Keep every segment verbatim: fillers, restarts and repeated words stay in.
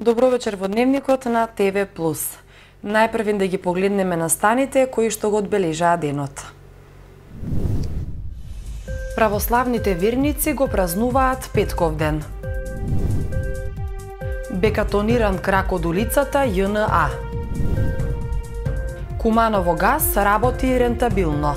Добро вечер во Дневникот на ТВ Плюс. Најпрвен да ги погледнеме на станите кои што го одбележаа денот. Православните верници го празнуваат Петков ден. Бекатониран крак од улицата Ј Н А. Куманово газ работи рентабилно.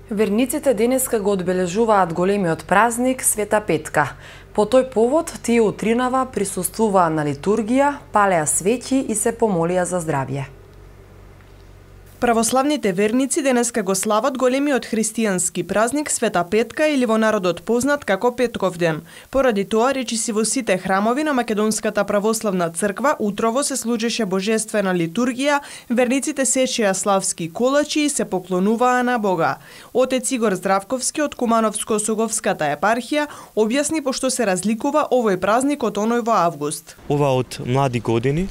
Верниците денеска го одбележуваат големиот празник Света Петка. По тој повод тие утринава присуствуваа на литургија, палеа свеќи и се помолија за здравје. Православните верници денеска го слават големиот христијански празник Света Петка или во народот познат како Петков ден. Поради тоа, речиси во сите храмови на Македонската православна црква утрово се служеше божествена литургија, верниците сечеа славски колачи и се поклонуваа на Бога. Отец Игор Здравковски од Кумановско-Соговската епархија објасни пошто се разликува овој празник од оној во август. Ова од млади години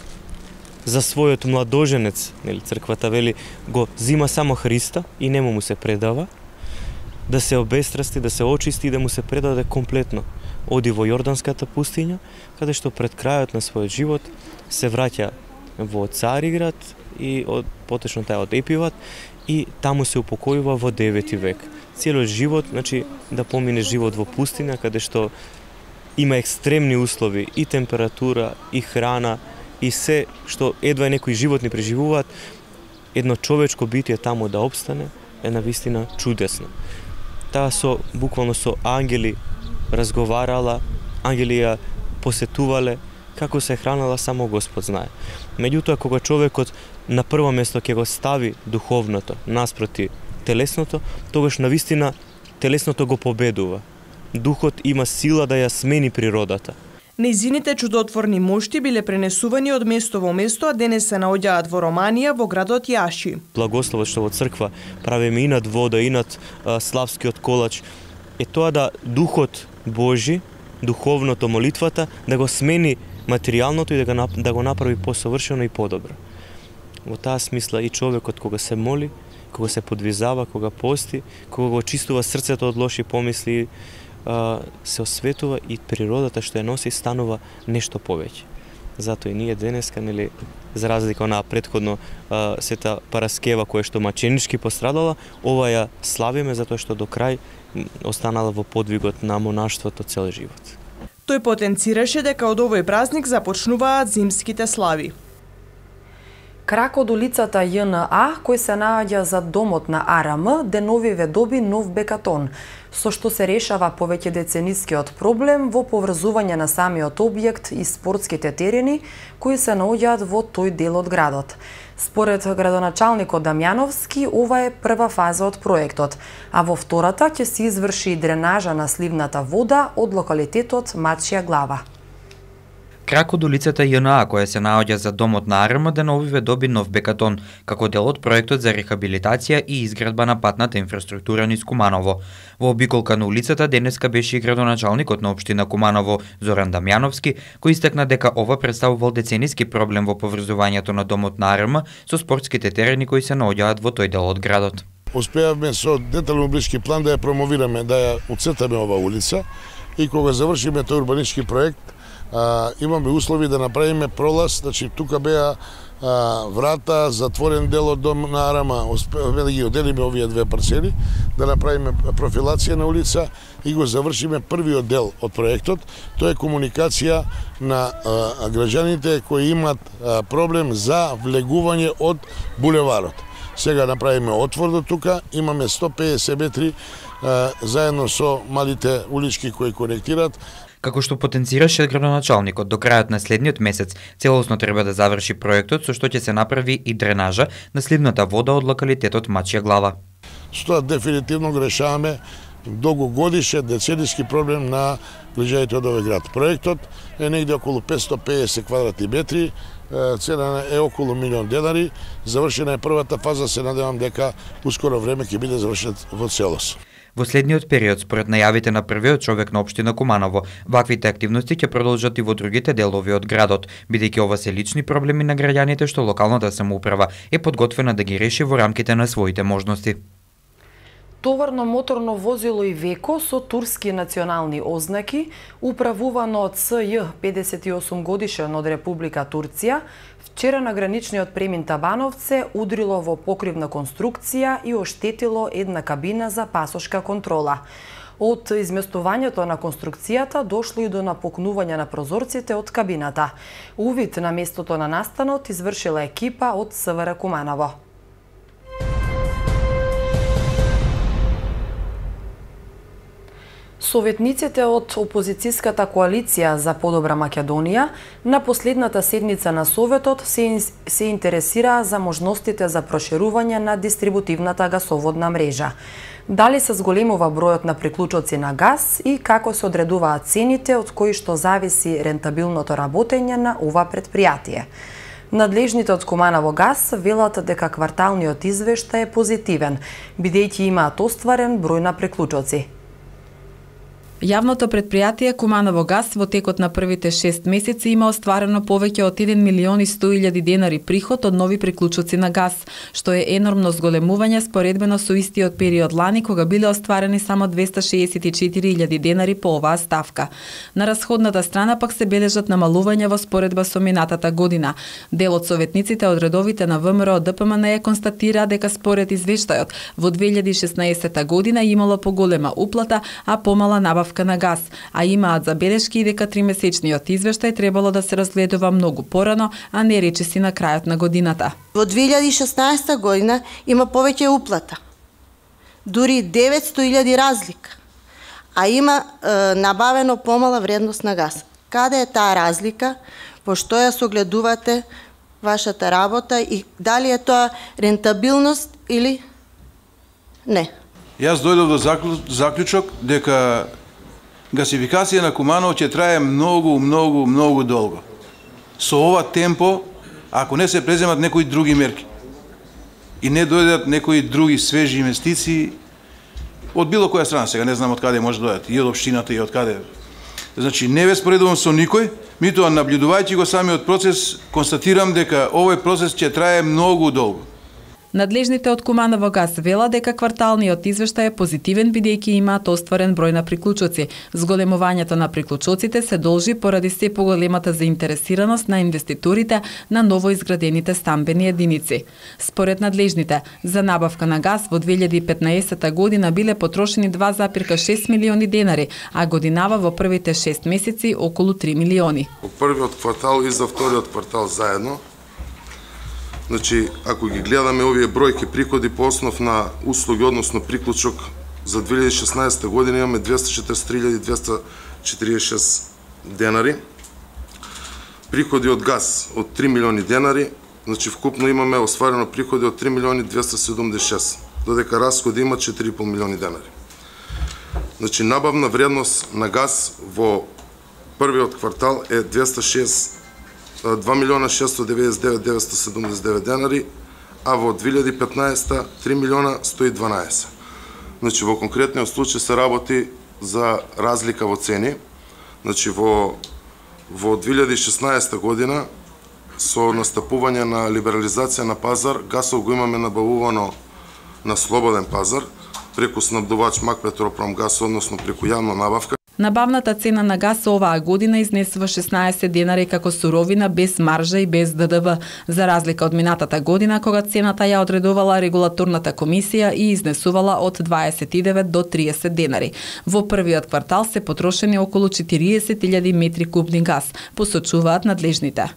за својот младоженец, нели црквата вели, го зима само Христа и нему му се предава, да се обестрасти, да се очисти и да му се предаде комплетно. Оди во Јорданската пустиња, каде што пред крајот на својот живот се враќа во Цариград и од потешно тај од Епиват и таму се упокојува во девети век. Целиот живот, значи да помине живот во пустиња каде што има екстремни услови и температура и храна и се што едва некои животни преживуваат, едно човечко битие таму да обстане е навистина чудесно. Таа со буквално со ангели разговарала, ангели ја посетувале, како се хранала само Господ знае. Меѓутоа кога човекот на прво место ќе го стави духовното наспроти телесното, тогаш навистина телесното го победува. Духот има сила да ја смени природата. Нејзините чудотворни мошти биле пренесувани од место во место, а денес се наоѓаат во Романија, во градот Јаши. Благословот што во црква правиме и над вода, и над а, славскиот колач, е тоа да Духот Божи, духовното, молитвата, да го смени материјалното и да го, да го направи посовршено и подобро. Во таа смисла и човекот кога се моли, кога се подвизава, кога пости, кога го очистува срцето од лоши помисли, се осветува и природата што ја носи станува нешто повеќе. Затоа и ние денеска, нели, за разлика од претходно Света Параскева која што маченички пострадала, ова ја славиме затоа што до крај останала во подвигот на монаштвото цел живот. Тој потенцираше дека од овој празник започнуваат зимските слави. Крак од улицата Ј Н А, кој се наоѓа за домот на А Р М, деновиве доби нов бекатон, со што се решава повеќе деценискиот проблем во поврзување на самиот објект и спортските терени кои се наоѓаат во тој дел од градот. Според градоначалникот Дамјановски, ова е прва фаза од проектот, а во втората ќе се изврши дренажа на сливната вода од локалитетот Мачја глава. Крак од улицата Ј Н А, која се наоѓа за домот на А Р М, деновиве доби нов бекатон, како дел од проектот за рехабилитација и изградба на патната инфраструктура низ Куманово. Во обиколка на улицата денеска беше и градоначалникот на општина Куманово, Зоран Дамјановски, кој истакна дека ова представувал децениски проблем во поврзувањето на домот на А Р М со спортските терени кои се наоѓаат во тој дел од градот. Успеавме со детално блиски план да ја промовираме, да ја уцртаме ова улица и кога завршиме тој урбанички проект, А, имаме услови да направиме пролаз, значи тука беа а, врата, затворен дел од дом на А Р М, успеавме да ги оделиме овие две парцели, да направиме профилација на улица и го завршиме првиот дел од проектот. Тоа е комуникација на а, граѓаните кои имаат а, проблем за влегување од булеварот. Сега направиме отвор до тука, имаме сто педесет метри а, заедно со малите улички кои конектираат. Како што потенцираше градоначалникот, до крајот на следниот месец целосно треба да заврши проектот со што ќе се направи и дренажа на сливната вода од локалитетот Мачја глава. Што дефинитивно го решаваме долгогодишен децениски проблем на граѓаните од овој град. Проектот е негде околу петстотини и педесет квадратни метри, цена е околу милион денари, завршена е првата фаза, се надевам дека ускоро време ќе биде завршен во целост. Во следниот период, според најавите на првиот човек на општина Куманово, ваквите активности ќе продолжат и во другите делови од градот, бидејќи ова се лични проблеми на граѓаните што локалната самоуправа е подготвена да ги реши во рамките на своите можности. Товарно моторно возило Ивеко со турски национални ознаки, управувано од С Ј педесет и осум годишен од Република Турција, вчера на граничниот премин Табановце удрило во покривна конструкција и оштетило една кабина за пасошка контрола. Од изместувањето на конструкцијата дошло и до напукнување на прозорците од кабината. Увид на местото на настанот извршила екипа од С В Р Куманово. Советниците од опозицијската коалиција за подобра Македонија на последната седница на Советот се, се интересираа за можностите за проширување на дистрибутивната гасоводна мрежа. Дали се зголемува бројот на приклучоци на газ и како се одредуваат цените од кои што зависи рентабилното работење на ова предпријатие. Надлежните од Куманово газ велат дека кварталниот извештај е позитивен, бидејќи имаат остварен број на приклучоци. Јавното предпријатие Куманово газ во текот на првите шест месеци има остварено повеќе од еден милион и сто илјади денари приход од нови приклучоци на газ, што е енормно зголемување споредбено со истиот период лани кога биле остварени само двеста шеесет и четири илјади денари по оваа ставка. На расходната страна пак се бележат намалувања во споредба со минатата година. Дел од советниците од редовите на В М Р Д П М Н Е констатира дека според извештајот во две илјади и шеснаесетта година имало поголема уплата, а помала набавка на газ, а имаат забелешки и дека тримесечниот извештај требало да се разгледува многу порано, а не речиси на крајот на годината. Во две илјади и шеснаесетта година има повеќе уплата, дури деветсто илјади разлика, а има е, набавено помала вредност на газ. Каде е таа разлика? Во што ја согледувате вашата работа и дали е тоа рентабилност или не? Јас дојдов до заклучок дека гасификација на Куманово ќе трае многу, многу, многу долго. Со ова темпо, ако не се преземат некои други мерки и не дојдат некои други свежи инвестиции од било која страна, сега не знам од каде може дојдат, и од општината и од каде. Значи, не ве споредувам со никој, митоа наблюдувајќи го самиот процес, констатирам дека овој процес ќе трае многу долго. Надлежните од Куманово газ вела дека кварталниот извештај е позитивен бидејќи имаат остварен број на приклучоци. Зголемувањето на приклучоците се должи поради се поголемата заинтересираност на инвеститорите на новоизградените стамбени единици. Според надлежните, за набавка на газ во две илјади и петнаесетта година биле потрошени два запирка шест милиони денари, а годинава во првите шест месеци околу три милиони. Во првиот квартал и за вториот квартал заедно, значи, ако ги гледаме овие бројки приходи по основ на услуги, односно приклучок, за две илјади и шеснаесетта година имаме двеста и четрдесет и три илјади двеста четиридесет и шест денари. Приходи од газ од три милиони денари, значи вкупно имаме остварено приходи од три милиони двеста седумдесет и шест, додека расходи има четири и пол милиони денари. Значи, набавна вредност на газ во првиот квартал е двеста шест два милиона шестsto деветдесет и девет илјади деветстотини седумдесет и девет денари, а во две илјади и петнаесетта три милиона сто и дванаесет. Значи, во конкретниот случај се работи за разлика во цени. Значи, во, во две илјади и шеснаесетта година, со настапување на либерализација на пазар, гасов го имаме набавувано на слободен пазар, преку снабдувач Макпетропромгаз, односно преку јавна набавка. Набавната цена на газ оваа година изнесува шеснаесет денари како суровина без маржа и без Д Д В, за разлика од минатата година кога цената ја одредувала регулаторната комисија и изнесувала од дваесет и девет до триесет денари. Во првиот квартал се потрошени околу четириесет илјади метри кубни газ, посочуваат надлежните.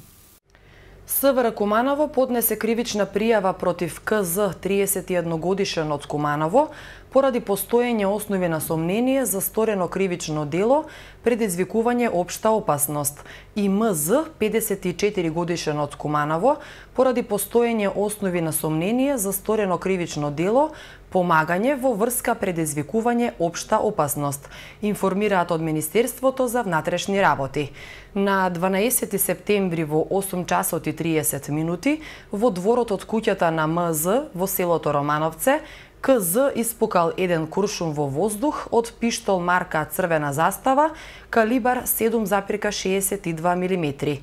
С В Р Куманово поднесе кривична пријава против К З триесет и едногодишен од Куманово поради постоење основи на сомнение за сторено кривично дело, предизвикување општа опасност, и М З педесет и четири годишен од Куманово поради постоење основи на сомнение за сторено кривично дело, помагање во врска предизвикување општа опасност, информираат од Министерството за внатрешни работи. На дванаесети септември во осум часот и триесет минути во дворот од куќата на М З во селото Романовце, К З испукал еден куршум во воздух од пиштол марка Црвена застава, калибар седум зарез шеесет и два милиметри.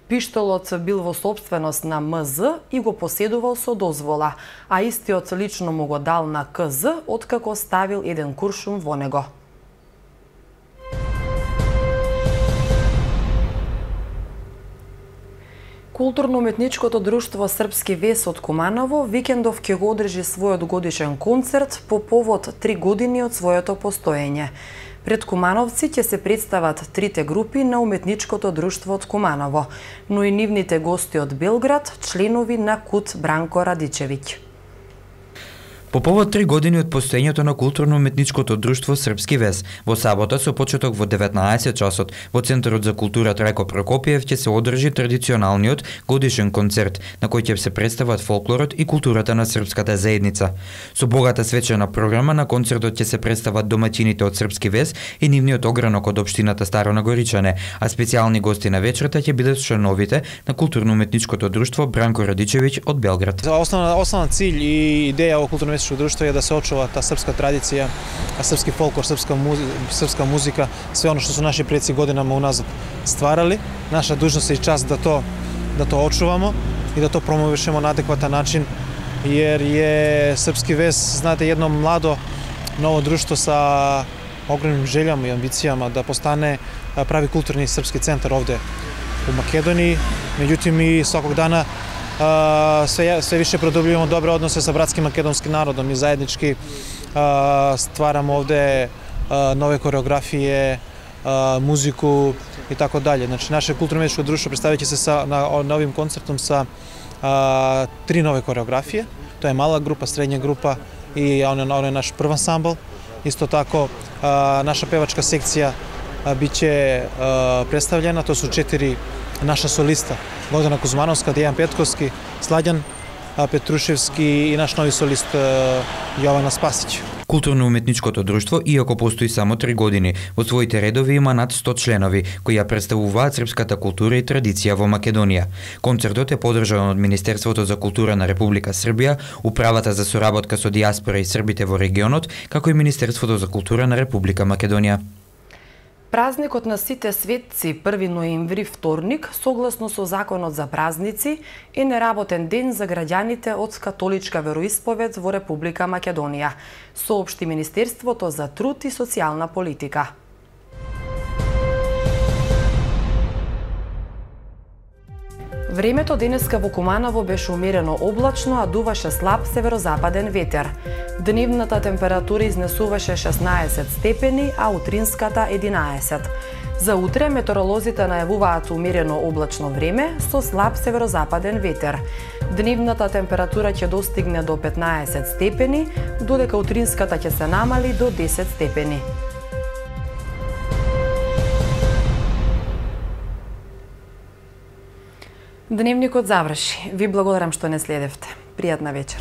Пиштолот бил во собственост на М З и го поседувал со дозвола, а истиот лично му го дал на К З откако ставил еден куршум во него. Културно-уметничкото друштво Српски вес од Куманово викендов ќе го одржи својот годишен концерт по повод три години од своето постоење. Пред кумановци ќе се представат трите групи на уметничкото друштво од Куманово, но и нивните гости од Белград, членови на КУТ Бранко Радичевиќ. По повод три години од постоењето на културно-уметничкото друштво Српски вес, во сабота со почеток во деветнаесет часот во Центарот за култура Трајко Прокопиев ќе се одржи традиционалниот годишен концерт на кој ќе се представат фолклорот и културата на српската заедница. Со богата свечена програма на концертот ќе се представат домаќините од Српски вес и нивниот огранок од општината Старо Нагоричане, а специјални гости на вечерта ќе бидат членовите на културно-уметничкото друштво Бранко Радичевиќ од Белград. Основна основна cilj и идеја во културно друштво е да се очува таа српска традиција, српски фолклор, српска музика, српска музика, све оно што се наши предци годинама уназад стварали. Наша дуžност и част да то да то очувамо и да то промовишемо на адекватен начин, jer je Srpski вес, знаете, едно младо ново друштво са огромним желјама и амбицијама да постане прави културни српски центар овде у Македонiji. Меѓутоа и сваког дана Uh, sve, sve više produbljujemo dobre odnose sa bratskim makedonskim narodom i zajednički uh, stvaramo ovde uh, nove koreografije, uh, muziku i tako dalje. Znači, naše kulturno-umetničko društvo predstavit će se sa, na, na ovim koncertom sa uh, tri nove koreografije. To je mala grupa, srednja grupa i on, on je naš prvi ansambl. Isto tako, uh, naša pevačka sekcija uh, bit će uh, predstavljena, to su četiri naša solista, Bogdana Kuzmanovska, Dejan Petkovski, Slađan Петрушевски и наш нови солист Јована Спасиќ. Културно-уметничкото друштво, иако постои само три години, во своите редови има над сто членови, кои ја представуваат српската култура и традиција во Македонија. Концертот е подржан од Министерството за култура на Република Србија, Управата за соработка со дијаспора и србите во регионот, како и Министерството за култура на Република Македонија. Празникот на сите светци, први ноември, вторник, согласно со Законот за празници, е неработен ден за граѓаните од католичка вероисповед во Република Македонија, соопшти Министерството за труд и социјална политика. Времето денеска во Куманово беше умерено облачно, а дуваше слаб северозападен ветер. Дневната температура изнесуваше шеснаесет степени, а утринската единаесет. За утре метеоролозите најавуваат умерено облачно време со слаб северозападен ветер. Дневната температура ќе достигне до петнаесет степени, додека утринската ќе се намали до десет степени. Дневникот заврши. Ви благодарам што не следевте. Пријатна вечер.